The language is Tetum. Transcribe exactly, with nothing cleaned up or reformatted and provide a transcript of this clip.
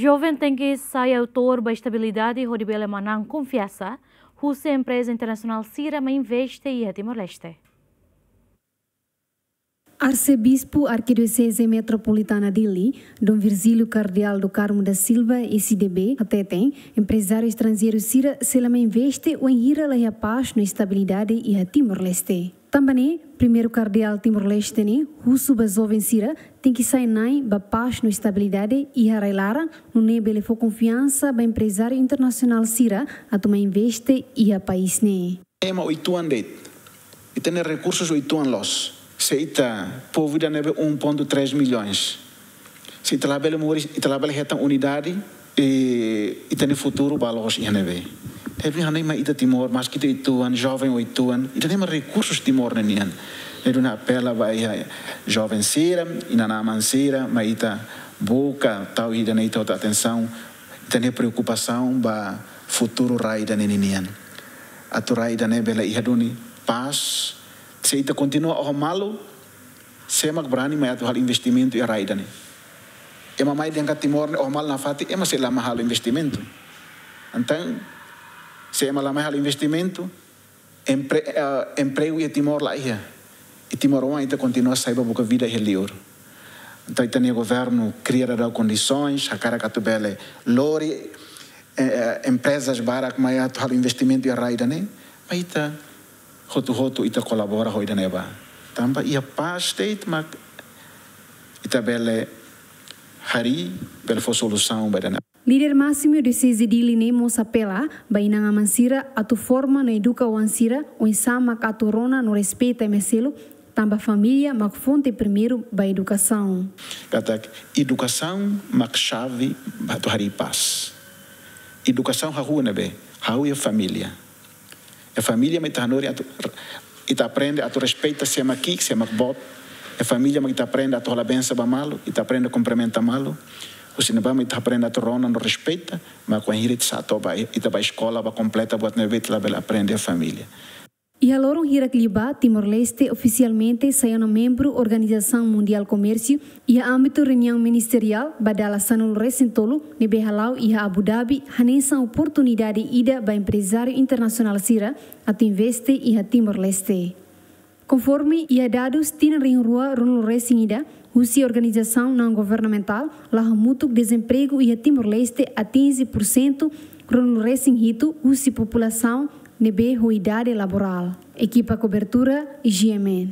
Joven tenke sai autór ba estabilidade hodi bele manán konfiansa husi empreza internasionál sira mai investe iha Timor-Leste. Arsebispu Arkidioseze Metropolitana Dili, Dom Virgílio Kardeál do Carmo da Silva, S D B, hateten emprezáriu estranjeiru sira sei la mai investe wainhira la iha pás no estabilidade iha Timor-Leste. Tanba ne'e, Primeiru Kardeál Timor-Leste ne'e husu ba joven sira tenke sai na'in ba pás no estabilidade iha rai-laran, nune'e bele fó konfiansa ba emprezáriu internasionál sira atu mai investe iha país ne'e. Ema oituan de'it. Ita-nia rekursus oituan loos. Se ita povu ida ne'ebé um ponto três milhões. Se ita labele moris, ita labele hetan unidade, e ita-nia futuru ba loos iha ne'ebé. Ne'ebé hanoin mai ita Timor, maski ita oituan, joven oituan, ita-nia rekursus Timor ne'e nian. Ne'e duni apela ba iha joven sira, inan-aman sira, mai ita buka tau ida-ne'e ita hotu atensaun, ita-nia preokupasaun ba futuru rai ida-ne'e ninian. Atu rai ida-ne'e bele iha duni pás. Se ita kontinua oho malu, sé mak brani mai atu halo investimentu iha rai ida-ne'e? Ema mai dehan katak Timor ne'e oho malu nafatin, ema sei la mai halo investimentu. Entaun, se ema la mai halo investimentu, empre-, eh, empregu iha Timor la iha. I timoroan ita kontinua sai ba buka vida iha liur. Entaun, ita-nia governu kria daudaun kondisoens, hakarak atu bele lori, eh, eh, emprezas barak mai atu halo investimentu iha rai ida-ne'e, mai ita hotu-hotu ita kolabora ho ida-ne'e ba. Tanba iha pás de'it mak ita bele harii, bele fó solusaun ba ida-ne'e. Líder másimu Dioseze Dili ne'e mós apela ba inan-aman sira atu forma no eduka oan sira oinsá mak atu rona no respeita ema seluk, tanba família mak fonte primeiru ba edukasaun. Katak edukasaun mak xave ba atu harii pás. Edukasaun hahú ne'ebé? Hahú iha família. Iha família mak ita hanorin atu, ita aprende atu respeita sé mak ki'ik, sé mak boot. Iha família mak ita aprende atu halo bensa ba malu, ita aprende kumprimenta malu. Husi ne'ebá mak ita aprende atu rona no respeita, mak wainhira ita sa'e to'o ba, ita ba eskola, ba kompleta buat ne'ebé ita labele aprende iha família. Iha loron hirak liubá, Timor-Leste ofisialmente sai ona membru Organizasaun Mundiál Komérsiu, iha ámbitu reuniaun ministeriál ba dala sanulu-resin-tolu ne'ebé hala'o iha Abu Dhabi, hanesan oportunidade ida ba emprezáriu internasionál sira atu investe iha Timor-Leste. Konforme iha dadus tinan rihun rua ruanulu-resin-ida, husi organizasaun naun-governamentál, la hamutuk dezempregu iha Timor-Leste atinje pursentu ruanulu-resin-hitu husi populasaun ne'ebé ho idade laborál. Ekipa kobertura, G M N.